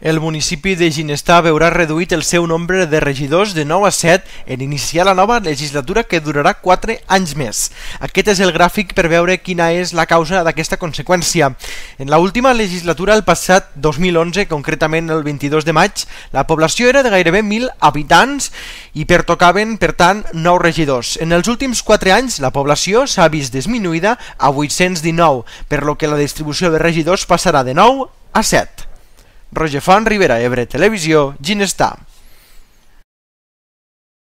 El municipi de Ginestar veurà reduït el seu nombre de regidors de 9 a 7 en iniciar la nova legislatura que durarà 4 anys més. Aquest és el gràfic per veure quina és la causa d'aquesta conseqüència. En l'última legislatura, el passat 2011, concretament el 22 de maig, la població era de gairebé 1.000 habitants i pertocaven, per tant, 9 regidors. En els últims 4 anys, la població s'ha vist disminuïda a 819, per lo que la distribució de regidors passarà de 9 a 7. Roger Font, Ribera Ebre Televisió, Ginestar.